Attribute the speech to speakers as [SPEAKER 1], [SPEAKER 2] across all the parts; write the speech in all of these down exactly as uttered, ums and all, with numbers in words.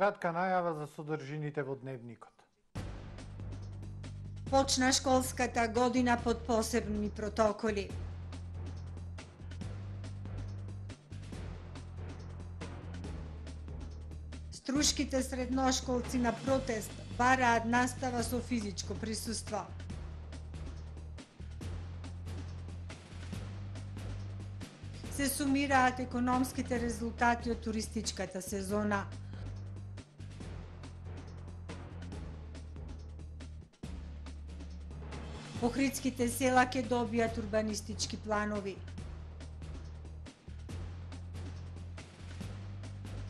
[SPEAKER 1] Кратка најава за содржините во дневникот.
[SPEAKER 2] Почна школската година под посебни протоколи. Струшките средношколци на протест бараат настава со физичко присуство. Се сумираат економските резултати од туристичката сезона. Охридските села ќе добијат урбанистички планови.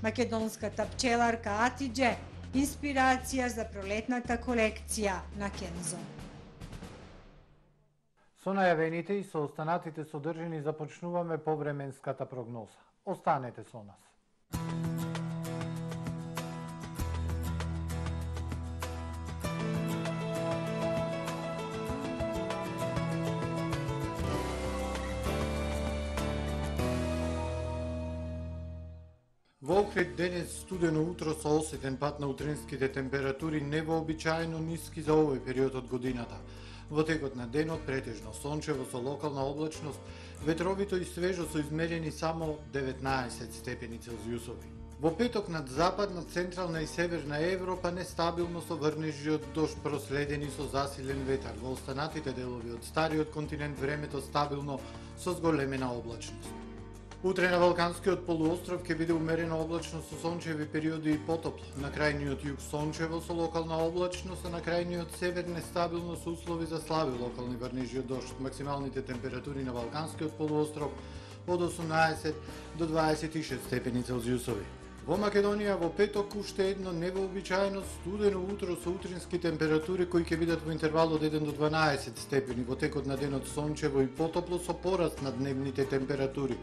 [SPEAKER 2] Македонската пчеларка Атидже инспирација за пролетната колекција на Кензо.
[SPEAKER 1] Со најавените и со останатите содржини започнуваме повременската прогноза. Останете со нас. Во Охрид денес студено утро со осетен пат на утринските температури невообичаено ниски за овој период од годината. Во текот на денот претежно сончево со локална облачност, ветровито и свежо со измерени само деветнаесет степени Целзиусови. Во петок над западна, централна и северна Европа нестабилно со врнежи од дожд проследени со засилен ветар. Во останатите делови од стариот континент времето стабилно со зголемена облачност. Утре на Балканскиот полуостров ќе биде умерено облачно со сончеви периоди и потопло. На крајниот југ сончево со локална облачност, а на крајниот север нестабилно со услови за слаби локални врнежи од дожд. Максималните температури на Балканскиот полуостров од осумнаесет до дваесет и шест степени Целзиусови. Во Македонија во петок уште едно невообичаено студено утро со утрински температури кои ќе бидат во интервал од еден до дванаесет степени. Во текот на денот сончево и потопло со пораст на дневните температури.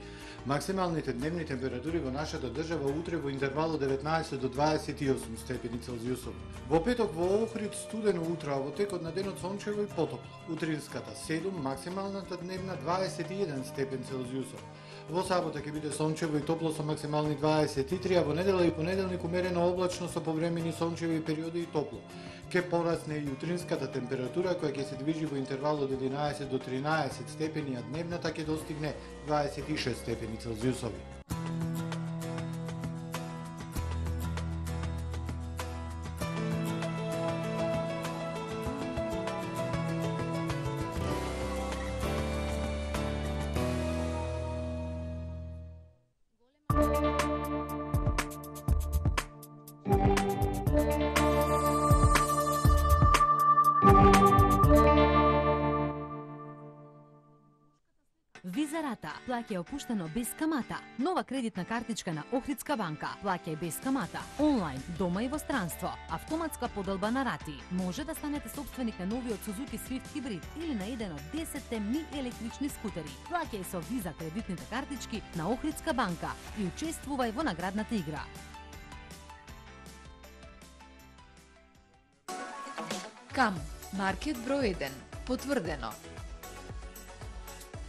[SPEAKER 1] Максималните дневни температури во нашата држава утре во интервал од деветнаесет до дваесет и осум степени Целзиусови. Во петок во Охрид студено утро, а во текот на денот сончево и потопло. Утринската седум, максималната дневна дваесет и еден степен Целзиусов. Во сабота ќе биде сончево и топло со максимални дваесет и три, а во недела и понеделник умерено облачно со повремени сончеви периоди и топло. Ке порасне и утринската температура која ќе се движи во интервал од единаесет до тринаесет степени, а дневната ќе достигне дваесет и шест степени Целзиусови.
[SPEAKER 3] Визарата плаќа опуштено без камата. Нова кредитна картичка на Охридска банка. Плаќај без камата. Онлайн, дома и во странство. Автоматска поделба на рати. Може да станете собственик на новиот Suzuki Swift Hybrid или на еден од десетте ми електрични скутери. Плаќај со Виза кредитните картички на Охридска банка и учествувај во наградната игра.
[SPEAKER 4] Кам, маркет број еден, потврдено.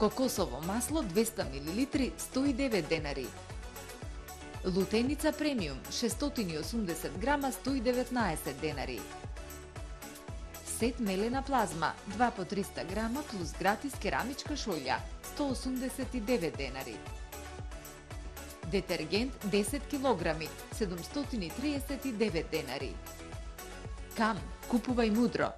[SPEAKER 4] Кокосово масло двеста милилитри сто и девет денари. Лутеница премиум шестстотини и осумдесет грама сто и деветнаесет денари. Сет мелена плазма два по триста грама плюс гратис керамичка шолја сто осумдесет и девет денари. Детергент десет килограми седумстотини и триесет и девет денари. Кам, купувај мудро.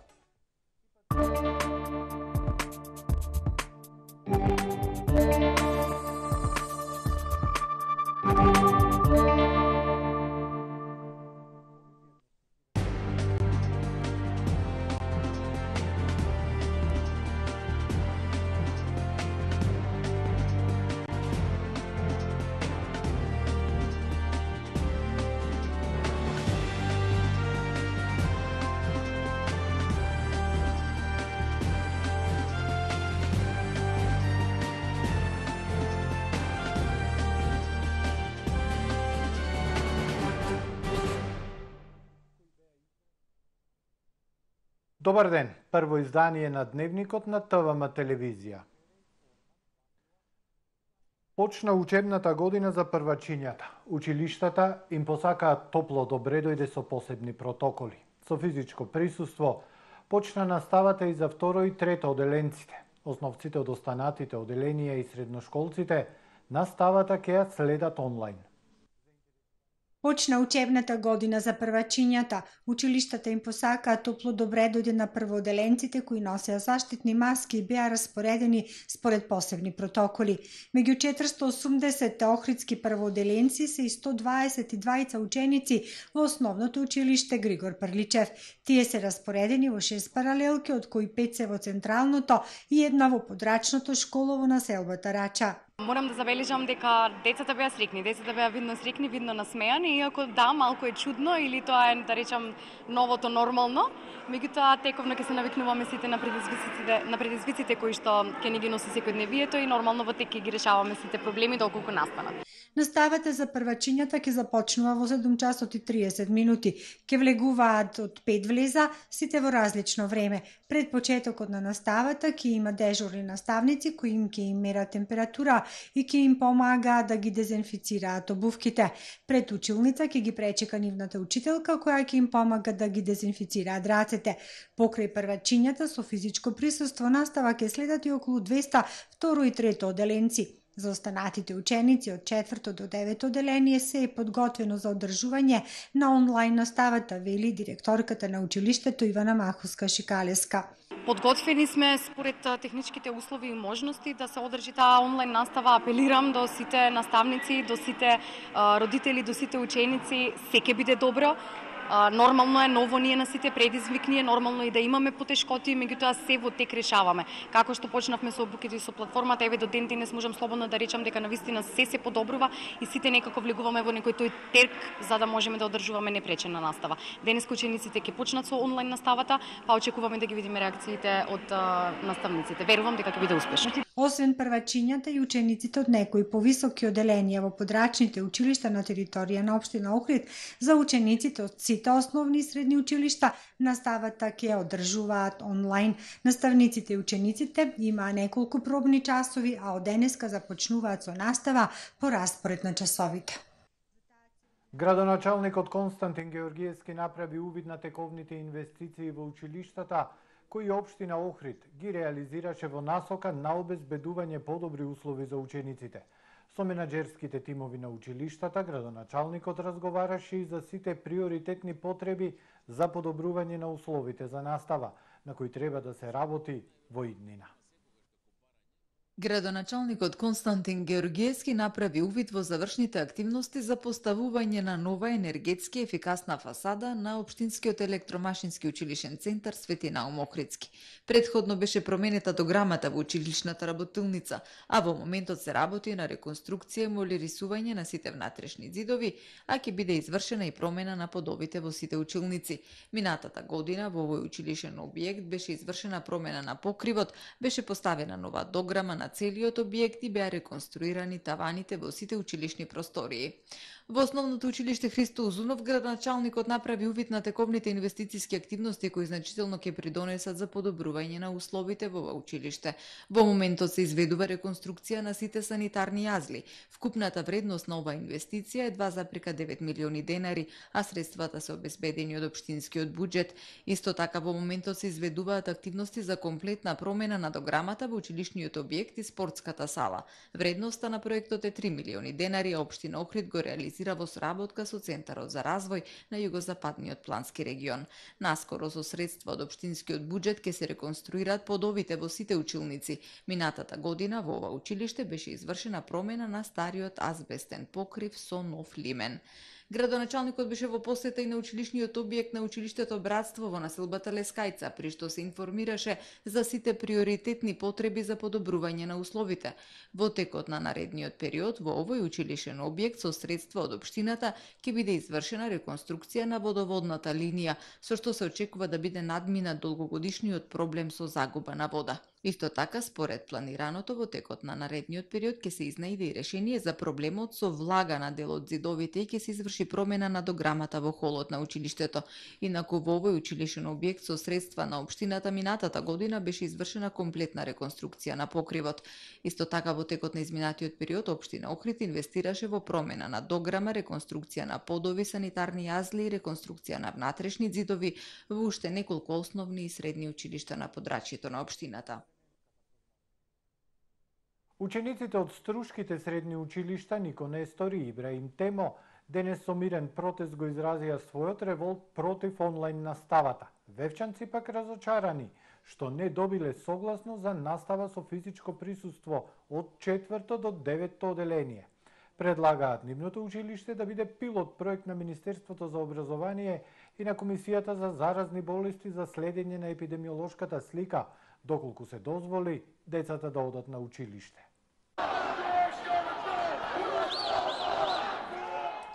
[SPEAKER 1] Добар ден, прво издание на Дневникот на ТВМ телевизија. Почна учебната година за првачињата. Училиштата им посакаат топло добре дојде со посебни протоколи. Со физичко присуство почна наставата и за второ и трето оделенците. Основците од останатите оделенија и средношколците наставата ќе ја следат онлайн.
[SPEAKER 2] Почна учебната година за првачињата. Училиштата им посакаат топло добре дојде на првооделенците кои носеа заштитни маски и беа распоредени според посебни протоколи. Меѓу четиристо и осумдесет охридски првооделенци се и сто дваесет и дваица ученици во основното училиште Григор Прличев. Тие се распоредени во шест паралелки, од кои пет се во централното и една во подрачното школово населбата Рача.
[SPEAKER 5] Морам да забележам дека децата беа срекни, децата беа видно срекни, видно насмеани, иако да, малку е чудно или тоа е, да речам, новото нормално, меѓутоа тековно ќе се навикнуваме сите на предизвиците, на предизвиците кои што ќе ни ги носи секојдневието и нормално во тек ќе ги решаваме сите проблеми доколку настанат.
[SPEAKER 2] Наставата за првачињата ќе започнува во седум часот и триесет минути. Ќе влегуваат од пет влеза, сите во различно време. Пред почетокот на наставата ќе има дежурни наставници кои им ќе им мерат температура и ќе им помагаат да ги дезинфицираат обувките. Пред училница ќе ги пречека нивната учителка која ќе им помага да ги дезинфицираат рацете. Покрај првачињата со физичко присуство настава ќе следат и околу двеста второ и трето оделенци. За останатите ученици од четврто до девето оделение се е подготвено за одржување на онлайн наставата, вели директорката на училиштето Ивана Маховска-Шикалеска.
[SPEAKER 5] Подготвени сме според техничките услови и можности да се одржи таа онлайн настава. Апелирам до сите наставници, до сите родители, до сите ученици, се ќе биде добро. Нормално е, ново ние на сите предизвикни е, нормално и да имаме потешкоти, меѓутоа се во тек решаваме. Како што почнавме со обуките и со платформата, еве до ден денес можам слободно да речам дека навистина се се подобрува и сите некако влегуваме во некој тој тек за да можеме да одржуваме непречена настава. Денес учениците ќе почнат со онлайн наставата, па очекуваме да ги видиме реакциите од наставниците. Верувам дека ќе биде успешно.
[SPEAKER 2] Освен првачињата и учениците од некои повисоки оделенија во подрачните училишта на територија на општина Охрид, за учениците од сите основни и средни училишта наставата ќе одржуваат онлайн. Наставниците и учениците имаа неколку пробни часови, а од денеска започнуваат со настава по распоред на часовите.
[SPEAKER 1] Градоначалникот Константин Георгиевски направи увид на тековните инвестиции во училиштата кои општина Охрид ги реализираше во насока на обезбедување подобри услови за учениците. Со менаџерските тимови на училиштата, градоначалникот разговараше и за сите приоритетни потреби за подобрување на условите за настава, на кои треба да се работи во иднина.
[SPEAKER 4] Градоначалникот Константин Георгиевски направи увид во завршните активности за поставување на нова енергетски ефикасна фасада на Општинскиот електромашински училишен центар Свети Наум Охридски. Предходно беше променета дограмата во училишната работилница, а во моментот се работи на реконструкција и молирисување на сите внатрешни зидови, а ќе биде извршена и промена на подовите во сите училници. Минатата година во овој училишен објект беше извршена промена на покривот, беше поставена нова дограма на целиот објект и беа реконструирани таваните во сите училишни простории. Во основното училиште Христо Узунов, градоначалникот направи увид на тековните инвестициски активности кои значително ќе придонесат за подобрување на условите во ова училиште. Во моментот се изведува реконструкција на сите санитарни јазли. Вкупната вредност на оваа инвестиција е два запирка девет милиони денари, а средствата се обезбедени од општинскиот буџет. Исто така во моментот се изведуваат активности за комплетна промена на дограмата во училишниот објект и спортската сала. Вредноста на проектот е три милиони денари, а општина Охрид го реализира во соработка со Центарот за развој на југозападниот плански регион. Наскоро со средства од општинскиот буџет ќе се реконструираат подовите во сите училници. Минатата година во ова училиште беше извршена промена на стариот азбестен покрив со нов лимен. Градоначалникот беше во посета и на училишниот објект на училиштето Братство во населбата Лескајца, при што се информираше за сите приоритетни потреби за подобрување на условите. Во текот на наредниот период во овој училишен објект со средства од општината ќе биде извршена реконструкција на водоводната линија, со што се очекува да биде надминат долгогодишниот проблем со загуба на вода. Исто така, според планираното во текот на наредниот период ќе се изнајде и решение за проблемот со влага на дел од зидовите и ќе се изврши промена на дограмата во холот на училиштето. Инаку во овој училишен објект со средства на општината минатата година беше извршена комплетна реконструкција на покривот. Исто така во текот на изминатиот период општина Охрид инвестираше во промена на дограма, реконструкција на подови, санитарни јазли и реконструкција на внатрешни зидови во уште неколку основни и средни училишта на подрачјето на општината.
[SPEAKER 1] Учениците од струшките средни училишта Нико Нестори и Ибраим Темо денес со мирен протест го изразија својот револт против онлайн наставата. Вевчанци пак разочарани што не добиле согласно за настава со физичко присуство од четврто до деветто оделение. Предлагаат нивното училиште да биде пилот проект на Министерството за образование и на Комисијата за заразни болести за следење на епидемиолошката слика, доколку се дозволи децата да одат на училиште.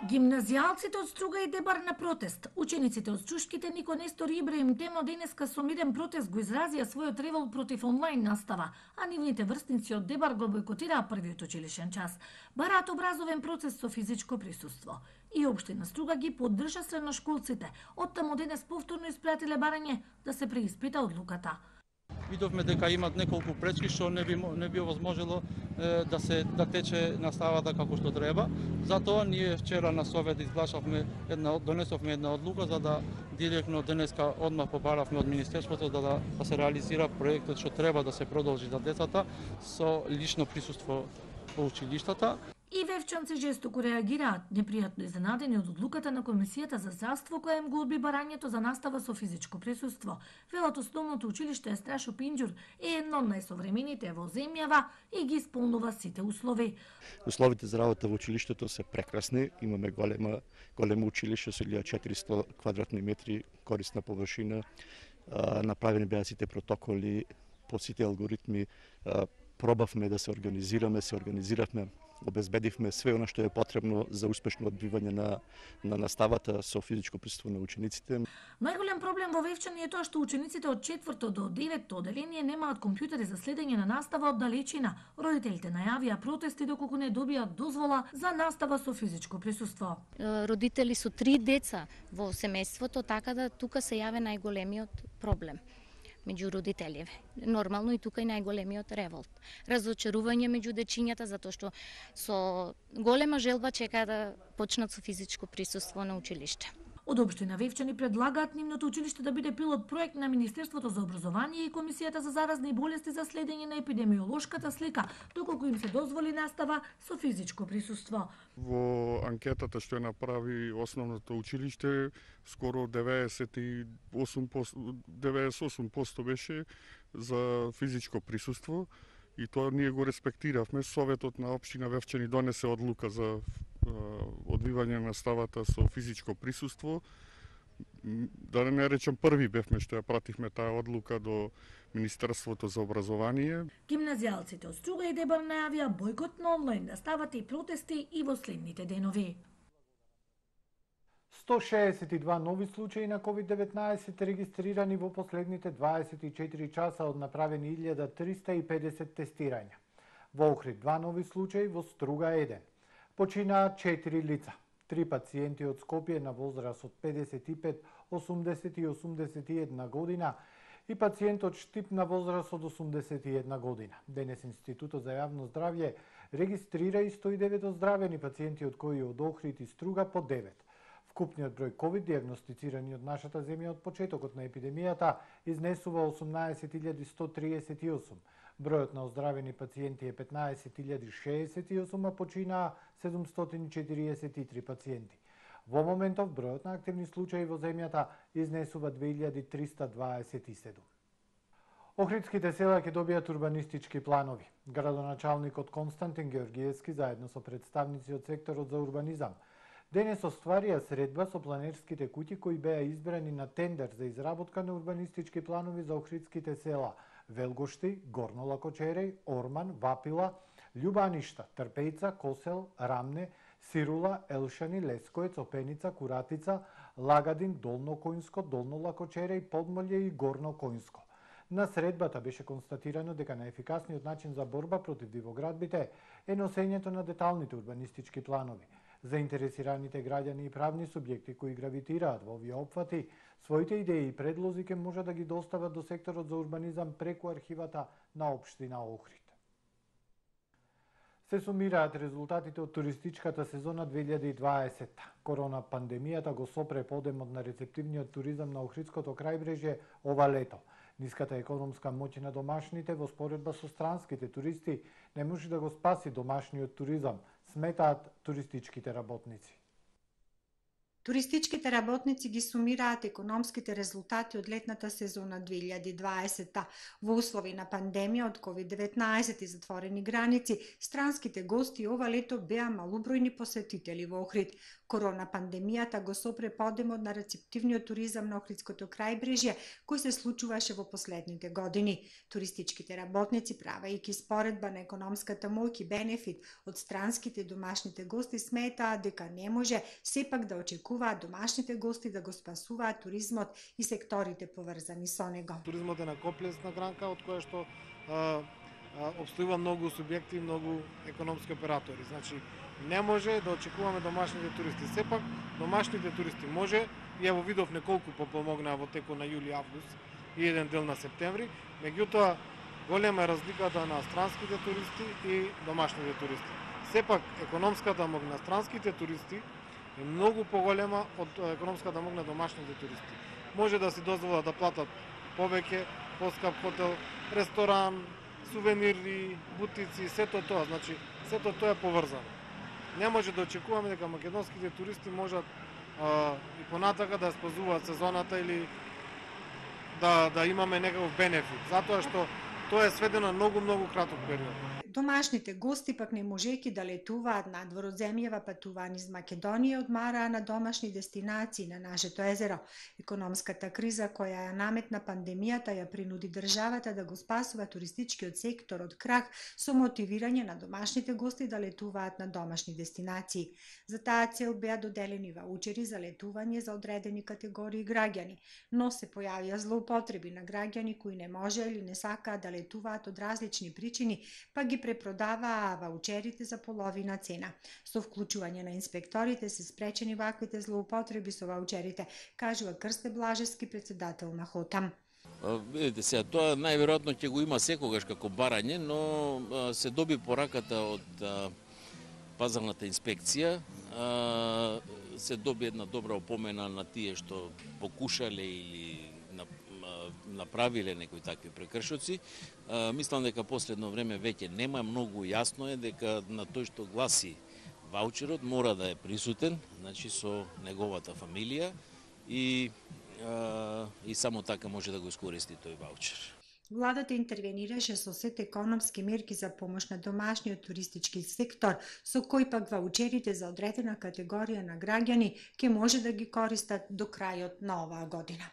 [SPEAKER 6] Гимназијалците од Струга и Дебар на протест. Учениците од струшките Нико Нестор и Ибраим Темо денеска со мирен протест го изразија својот револт против онлайн настава, а нивните врсници од Дебар го бойкотираа првиот училишен час. Бараат образовен процес со физичко присуство. И општина Струга ги поддржа средношколците. Оттаму денес повторно испратиле барање да се преиспита одлуката.
[SPEAKER 7] Видовме дека имат неколку пречки што не би не би возможело е, да се да тече наставата како што треба. Затоа ние вчера на совет изгласавме една донесовме една одлука за да директно денеска одмах побаравме од министерството да, да да се реализира проектот што треба да се продолжи за децата со лично присуство во училиштата.
[SPEAKER 6] И вевчанци жестоко реагираат, непријатно изненадени од одлуката на Комисијата за здравство која им го одби барањето за настава со физичко присуство. Велат основното училиште Страшо Пинџур е едно од најсовремените во земјава и ги исполнува сите услови.
[SPEAKER 8] Условите за работа во училиштето се прекрасни. Имаме голема големо училиште со илјада и четиристо квадратни метри корисна површина. Направени беа сите протоколи, по сите алгоритми. Пробавме да се организираме, се организиравме, обезбедивме све она што е потребно за успешно одбивање на, на наставата со физичко присуство на учениците.
[SPEAKER 6] Најголем проблем во Вевчани е тоа што учениците од четврто до деветто оделение немаат компјутери за следење на настава од далечина. Родителите најавија протести доколку не добијат дозвола за настава со физичко присуство.
[SPEAKER 9] Родители со три деца во семејството, така да тука се јаве најголемиот проблем меѓу родителите. Нормално и тука и најголемиот револт. Разочарување меѓу дечињата затоа што со голема желба чекаат да почнат со физичко присуство на училиште.
[SPEAKER 6] Од општина Вевчани предлагаат нивното училиште да биде пилот проект на Министерството за образование и Комисијата за заразни болести за следење на епидемиолошката слика, доколку им се дозволи настава со физичко присуство.
[SPEAKER 10] Во анкетата што ја направи основното училиште, скоро деветдесет и осум проценти беше за физичко присуство и тоа ние го респектиравме. Советот на општина Вевчани донесе одлука за одвивање на наставата со физичко присуство. Да не речем први бевме што ја пративме таа одлука до Министерството за образование.
[SPEAKER 6] Гимназијалците од Струга и Дебар најавија бойкот на онлайн наставата и протести и во следните денови.
[SPEAKER 1] сто шеесет и два нови случаи на ковид деветнаесет регистрирани во последните дваесет и четири часа од направени илјада триста и педесет тестирања. Во Охрид два нови случаи, во Струга еден. Починаа четири лица. Три пациенти од Скопје на возраст од педесет и пет, осумдесет и осумдесет и една година и пациент од Штип на возраст од осумдесет и една година. Денес Институтот за јавно здравје регистрира и сто и девет оздравени пациенти, од кои од Охрид и Струга по девет. Вкупниот број ковид диагностицирани од нашата земја од почетокот на епидемијата изнесува осумнаесет илјади сто триесет и осум. Бројот на оздравени пациенти е петнаесет илјади шеесет и осум, а починаа седумстотини и четириесет и три пациенти. Во моментов бројот на активни случаи во земјата изнесува две илјади триста дваесет и седум. Охридските села ќе добијат урбанистички планови. Градоначалникот Константин Георгиевски заедно со представници од секторот за урбанизам денес остварија средба со планерските куќи кои беа избрани на тендер за изработка на урбанистички планови за охридските села Велгошти, Горно Лакочереј, Орман, Вапила, Љубаништа, Трпејца, Косел, Рамне, Сирула, Елшани, Лескоец, Опеница, Куратица, Лагадин, Долно Којнско, Долно Лакочереј, Подмолје и Горно Којнско. На средбата беше констатирано дека најефикасниот начин за борба против дивоградбите е носењето на деталните урбанистички планови. Заинтересираните граѓани и правни субјекти кои гравитираат во овие опфати, своите идеи и предлози ке може да ги достават до секторот за урбанизам преку архивата на општина Охрид. Се сумираат резултатите од туристичката сезона две илјади и дваесетта. Корона пандемијата го сопре подемот на рецептивниот туризам на Охридското крајбрежје ова лето. Ниската економска моќ на домашните во споредба со странските туристи не може да го спаси домашниот туризам, сметаат туристичките работници.
[SPEAKER 2] Туристичките работници ги сумираат економските резултати од летната сезона две илјади и дваесетта. Во услови на пандемија од ковид деветнаесет и затворени граници, странските гости ова лето беа малобројни посетители во Охрид. Корона пандемијата го сопре подемот на рецептивниот туризам на Охридското крајбрежје, кој се случуваше во последните години. Туристичките работници, правејќи споредба на економската моќ и бенефит од странските и домашните гости, сметаат дека не може сепак да очекуваат домашните гости да го спасуваат туризмот и секторите поврзани со него.
[SPEAKER 11] Туризмот е на комплексна гранка од која што а, а, обстојува многу субјекти, многу економски оператори. Значи, не може да очекуваме домашните туристи. Сепак, домашните туристи може, и ево видов неколку попомогнаа во текот на јули, август и еден дел на септември, меѓутоа голема е разликата на странските туристи и домашните туристи. Сепак, економската моќ на странските туристи е многу поголема од економската моќ на домашните туристи. Може да си дозволат да платат повеќе, поскап хотел, ресторан, сувенири, бутици, сето тоа, значи сето тоа е поврзано. Не може да очекуваме дека македонските туристи можат а, и понатака да спазуваат сезоната или да да имаме некаков бенефит, затоа што тоа е сведено на многу многу краток период.
[SPEAKER 2] Домашните гости пак не можејќи да летуваат надвор од земјава, патуваат низ Македонија, одмараа на домашни дестинации на нашето езеро. Економската криза која ја наметна пандемијата ја принуди државата да го спасува туристичкиот сектор од крах со мотивирање на домашните гости да летуваат на домашни дестинации. За таа цел беа доделени ваучери за летување за одредени категории граѓани, но се појавија злоупотреби на граѓани кои не може или не сакаат да летуваат од различни причини, па ги препродаваа ваучерите за половина цена. Со вклучување на инспекторите се спречени ваквите злоупотреби со ваучерите, кажува Крсте Блажевски, председател на Хотам.
[SPEAKER 12] Видите сега, тоа најверојатно ќе го има секогаш како барање, но се доби пораката од а, пазарната инспекција, а, се доби една добра опомена на тие што покушале или направиле некои такви прекршоци. Мислам дека последно време веќе нема, многу јасно е дека на тој што гласи ваучерот мора да е присутен, значи со неговата фамилија и и само така може да го искористи тој ваучер.
[SPEAKER 2] Владата интервенираше со сет економски мерки за помош на домашниот туристички сектор, со кој пак ваучерите за одредена категорија на граѓани ќе може да ги користат до крајот на оваа година.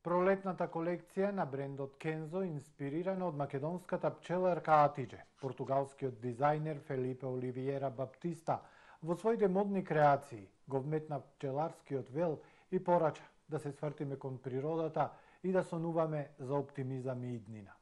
[SPEAKER 1] Пролетната колекција на брендот Кензо инспирирана од македонската пчеларка Атидже. Португалскиот дизајнер Фелипе Оливиера Баптиста во своите модни креации го вметна пчеларскиот вел и порача да се свртиме кон природата и да сонуваме за оптимизам и иднина.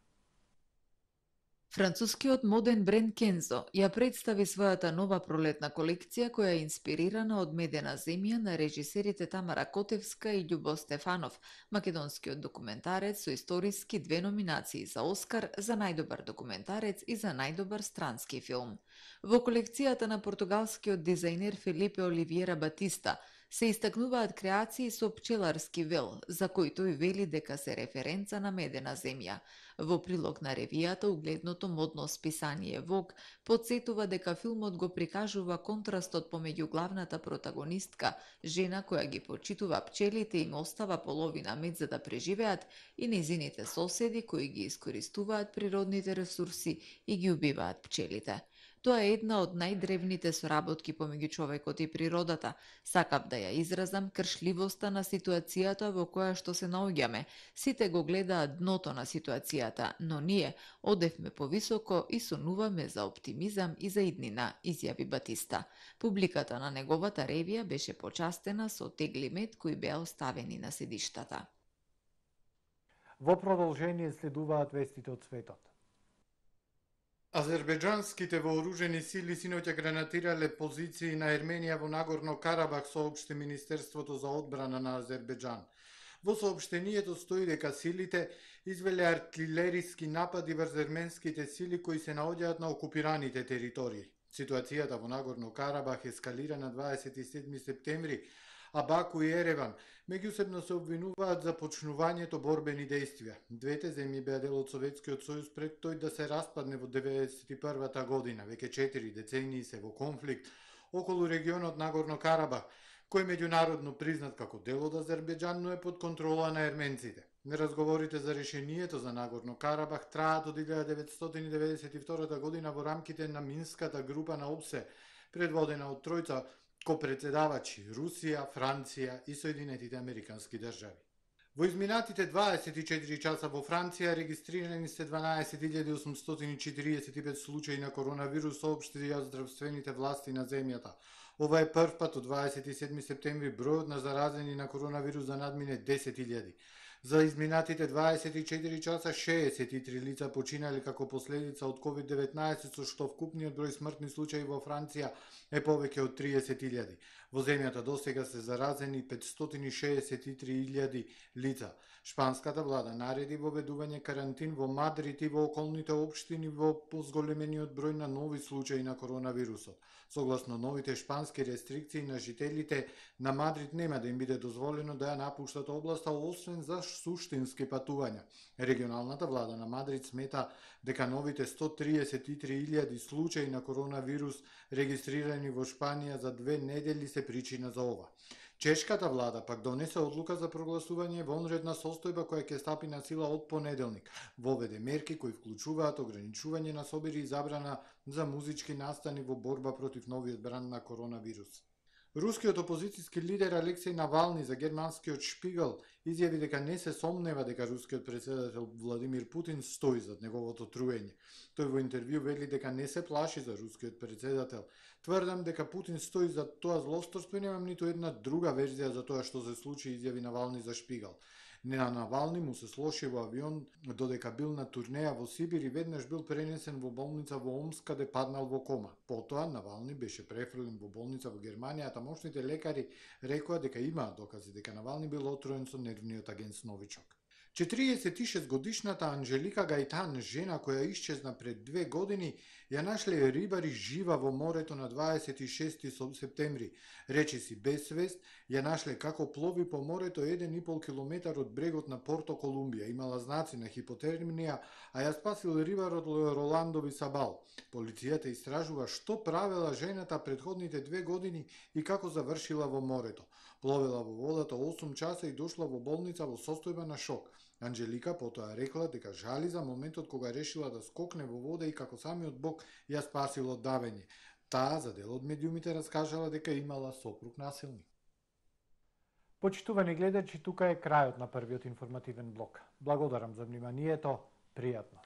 [SPEAKER 4] Францускиот моден бренд Кензо ја представи својата нова пролетна колекција која е инспирирана од Медена земја на режисерите Тамара Котевска и Љубо Стефанов, македонскиот документарец со историски две номинации за Оскар за најдобар документарец и за најдобар странски филм. Во колекцијата на португалскиот дизајнер Фелипе Оливиера Батиста се истакнуваат креации со пчеларски вел, за кој тој вели дека се референца на Медена земја. Во прилог на ревијата, угледното модно списание Vogue подсетува дека филмот го прикажува контрастот помеѓу главната протагонистка, жена која ги почитува пчелите и им остава половина мед за да преживеат, и незините соседи кои ги искористуваат природните ресурси и ги убиваат пчелите. Тоа е една од најдревните соработки помеѓу човекот и природата. Сакав да ја изразам кршливоста на ситуацијата во која што се наоѓаме. Сите го гледаат дното на ситуацијата, но ние одевме повисоко и сонуваме за оптимизам и за иднина, изјави Батиста. Публиката на неговата ревија беше почастена со тегли мед кои беа оставени на седиштата.
[SPEAKER 1] Во продолжение следуваат вестите од светот. Азербејџанските вооружени сили синоќа гранатирале позиции на Ерменија во Нагорно Карабах, соопшти Министерството за одбрана на Азербејџан. Во соопштенијето стои дека силите извеле артилериски напади врз ерменските сили кои се наоѓаат на окупираните територии. Ситуацијата во Нагорно Карабах ескалира на дваесет и седми септември, а Баку и Ереван меѓусебно се обвинуваат за почнувањето борбени дејствија. Двете земји беа дел од Советскиот сојуз пред тој да се распадне во деветдесет и првата година. Веќе четири децении се во конфликт околу регионот Нагорно Карабах, кој меѓународно признат како дел од Азербејџан, но е под контрола на ерменците. Разговорите за решението за Нагорно Карабах траат од илјада деветстотини деветдесет и втора година во рамките на Минската група на ОПСЕ, предводена од тројца копредседавачи Русија, Франција и Соединетите Американски држави. Во изминатите дваесет и четири часа во Франција регистрирани се дванаесет илјади осумстотини четириесет и пет случаи на коронавирус, соопштија здравствените власти на земјата. Ова е прв пат од дваесет и седми септември бројот на заразени на коронавирус да надмине десет илјади. За изминатите дваесет и четири часа шеесет и три лица починале како последица од ковид деветнаесет, со што вкупниот број смртни случаи во Франција е повеќе од триесет илјади. Во земјата досега се заразени петстотини шеесет и три илјади лица. Шпанската влада нареди воведување карантин во Мадрид и во околните општини во позголемениот број на нови случаи на коронавирусот. Согласно новите шпански рестрикции на жителите на Мадрид нема да им биде дозволено да ја напуштат областа освен за суштински патувања. Регионалната влада на Мадрид смета дека новите сто триесет и три илјади случаи на коронавирус регистрирани во Шпанија за две недели се причина за ова. Чешката влада пак донесе одлука за прогласување вонредна состојба која ќе стапи на сила од понеделник. Воведе мерки кои вклучуваат ограничување на собири и забрана за музички настани во борба против новиот бранд на коронавирус. Рускиот опозицијски лидер Алексеј Навални за германскиот Шпигел изјави дека не се сомнева дека рускиот председател Владимир Путин стои зад неговото труење. Тој во интервју вели дека не се плаши за рускиот председател. Тврдам дека Путин стои зад тоа злосторство и немам ниту една друга верзија за тоа што се случи, изјави Навални за Шпигел. На Навални му се слоши во авион додека бил на турнеја во Сибир и веднаш бил пренесен во болница во Омск, каде паднал во кома. Потоа Навални беше префрлен во болница во Германија, а тамошните лекари рекоа дека имаат докази дека Навални бил отруен со нервниот агент Новичок. четириесет и шест годишната Анжелика Гајтан, жена која исчезна пред две години, ја нашле рибари жива во морето на дваесет и шести септември. Речиси без свест, ја нашле како плови по морето еден и пол километар од брегот на Порто Колумбија. Имала знаци на хипотермија, а ја спасил рибарот Роландо Висабал. Полицијата истражува што правела жената предходните две години и како завршила во морето. Пловела во водата осум часа и дошла во болница во состојба на шок. Анжелика потоа рекла дека жали за моментот кога решила да скокне во вода и како самиот Бог ја спасил од давење. Таа за дел од медиумите раскажала дека имала сопруг насилник. Почитувани гледачи, тука е крајот на првиот информативен блок. Благодарам за вниманието, пријатно.